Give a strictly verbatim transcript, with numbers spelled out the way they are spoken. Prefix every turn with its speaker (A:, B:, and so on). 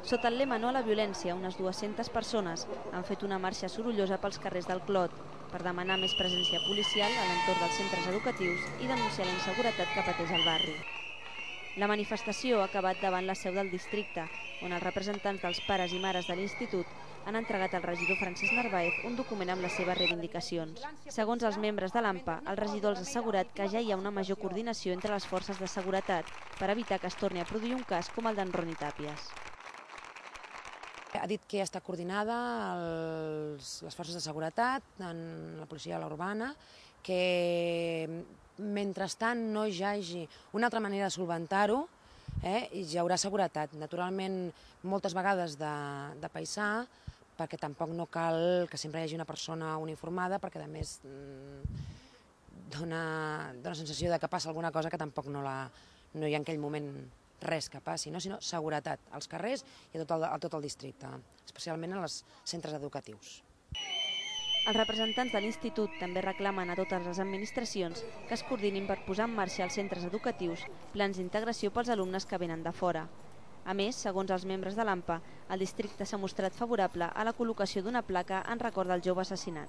A: Sota el lema No a la violència, unes dues-centes persones han fet una marxa sorollosa pels carrers del Clot per demanar més presència policial a l'entorn dels centres educatius i denunciar la inseguretat que pateix el barri. La manifestació ha acabat davant la seu del districte, on els representants dels pares i mares de l'institut han entregat al regidor Francesc Narváez un document amb les seves reivindicacions. Segons els membres de l'AMPA, el regidor els ha assegurat que ja hi ha una major coordinació entre les forces de seguretat per evitar que es torni a produir un cas com el d'en Roni Tàpies.
B: Ha dit que ja està coordinada els, les forces de seguretat, en la policia urbana, que mentrestant no hi hagi una altra manera de solventar-ho, eh, hi haurà seguretat. Naturalment, moltes vegades de, de paisà, perquè tampoc no cal que sempre hi hagi una persona uniformada, perquè a més dona, dona sensació de que passa alguna cosa que tampoc no, la, no hi ha en aquell moment res que passi, no? Sinó seguretat als carrers i a tot, el, a tot el districte, especialment als centres educatius.
A: Els representants de l'institut també reclamen a totes les administracions que es coordinin per posar en marxa als centres educatius plans d'integració pels alumnes que venen de fora. A més, segons els membres de l'AMPA, el districte s'ha mostrat favorable a la col·locació d'una placa en record del jove assassinat.